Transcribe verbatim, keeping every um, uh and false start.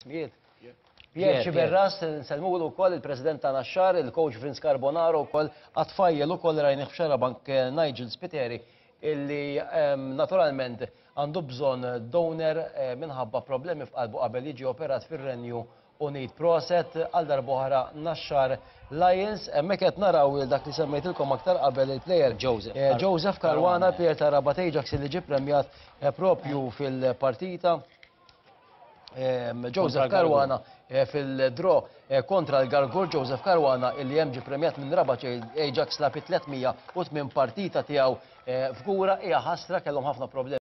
L-ismijiet. Pierre Xiberras, nsellmulu wkoll, il-President ta' Naxxar, il-coach Vince Carbonaro wkoll, għat-tfajjel ukoll rajnih f'Xarabank, Nigel Spiteri, illi naturalment għandu bżonn donor minħabba problemi f'qalbu qabel jiġi operat fir-Renju Unit. Proset għal darb'oħra, Naxxar Lions. Hemmhekk qed naraw dak li semmejtilkom aktar qabel, il-player Joseph Joseph Caruana, player ta' Rabat Ajax li ġie premjat propju fil-partita. Joseph Caruana fil-draw kontra l-Għargħur. Joseph Caruana illi hemm ġie premjat minn Rabat Ajax, lagħab tliet mija u tmien partita tiegħu f'Fgura. Hija ħasra, kellhom ħafna problemi.